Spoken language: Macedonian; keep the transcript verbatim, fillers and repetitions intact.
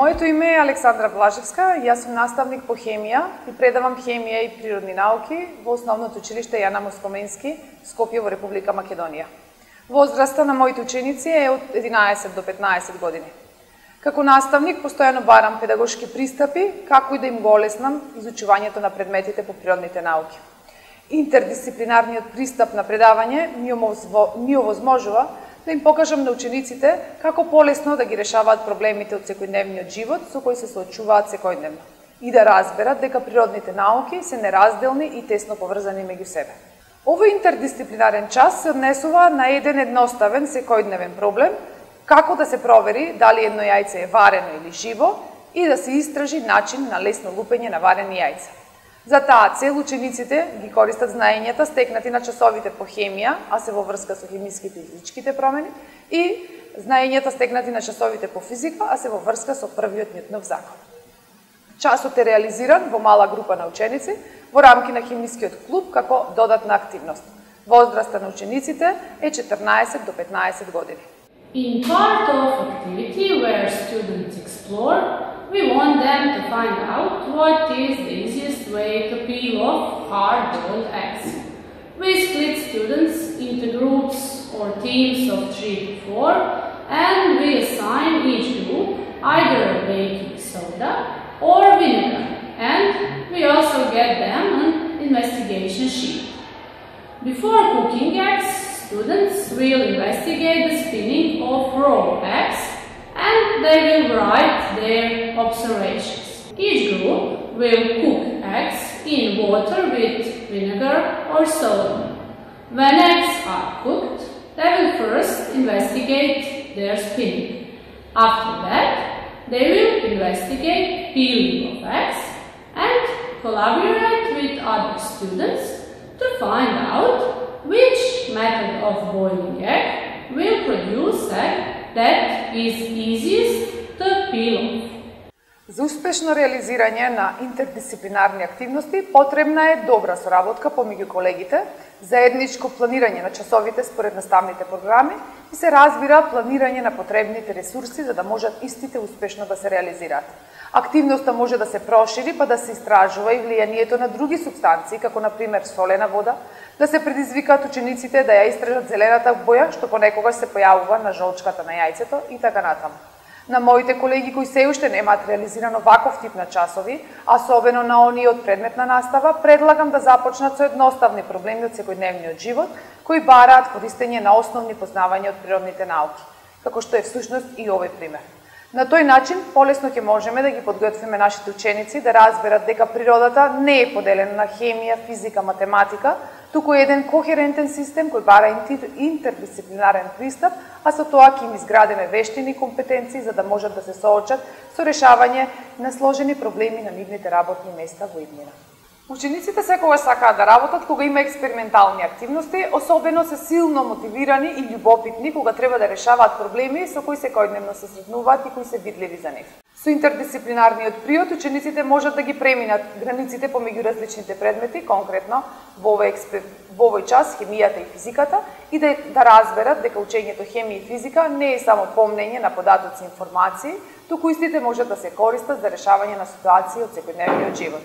Моето име е Александра Блажевска, јас сум наставник по хемија и предавам хемија и природни науки во Основното училиште Јана Москоменски, Скопје во Република Македонија. Возраста на моите ученици е од единаесет до петнаесет години. Како наставник постојано барам педагошки пристапи како и да им го олеснам изучувањето на предметите по природните науки. Интердисциплинарниот пристап на предавање ми овозможува да им покажам на учениците како полесно да ги решаваат проблемите од секојдневниот живот со кои се соочуваат секојдневно и да разберат дека природните науки се неразделни и тесно поврзани меѓу себе. Овој интердисциплинарен час се однесува на еден едноставен секојдневен проблем, како да се провери дали едно јајце е варено или живо и да се истражи начин на лесно лупење на варени јајца. За таа цел учениците ги користат знаењата стекнати на часовите по хемија, а се во врска со хемиските и физичките промени, и знаењата стекнати на часовите по физика, а се во врска со првиот Њутнов закон. Часот е реализиран во мала група на ученици во рамки на хемискиот клуб како додатна активност. Возраста на учениците е четрнаесет до петнаесет години. In part of activity where students explore, we want them to find out what is the easiest way to peel off hard-boiled eggs. We split students into groups or teams of three to four, and we assign each group either baking soda or vinegar, and we also get them an investigation sheet. Before cooking eggs, students will investigate the spinning of raw eggs, and they will write their observations. Each group will cook eggs in water with vinegar or soda. When eggs are cooked, they will first investigate their spinning. After that, they will investigate peeling of eggs and collaborate with other students to find out which method of boiling egg will produce egg that is easiest to peel off. За успешно реализирање на интердисциплинарни активности потребна е добра соработка помеѓу колегите, заедничко планирање на часовите според наставните програми и се разбира планирање на потребните ресурси за да можат истите успешно да се реализираат. Активноста може да се прошири па да се истражува и влијанието на други супстанции, како на пример солена вода, да се предизвикаат учениците да ја истражат зелената боја што понекогаш се појавува на жолчката на јајцето и така натаму. На моите колеги кои се уште немаат реализирано ваков тип на часови, особено на оние од предметна настава, предлагам да започнат со едноставни проблеми од секојдневниот живот, кои бараат користење на основни познавања од природните науки, како што е всушност и овој пример. На тој начин полесно ќе можеме да ги подготвиме нашите ученици да разберат дека природата не е поделена на хемија, физика, математика, туку еден кохерентен систем кој бара интердисциплинарен пристап, а со тоа ќе им изградиме вештини и компетенции за да можат да се соочат со решавање на сложени проблеми на нивните работни места во иднина. Учениците секогаш сакаат да работат кога има експериментални активности, особено се силно мотивирани и љубопитни кога треба да решаваат проблеми со кои секојдневно се сретнуваат и кои се видливи за нив. Со интердисциплинарниот приод учениците можат да ги преминат границите помеѓу различните предмети, конкретно во овој, експер... во овој час хемијата и физиката, и да, да разберат дека учењето хемија и физика не е само помнење на податоци и информации, туку истите можат да се користат за решавање на ситуации од секојдневниот живот.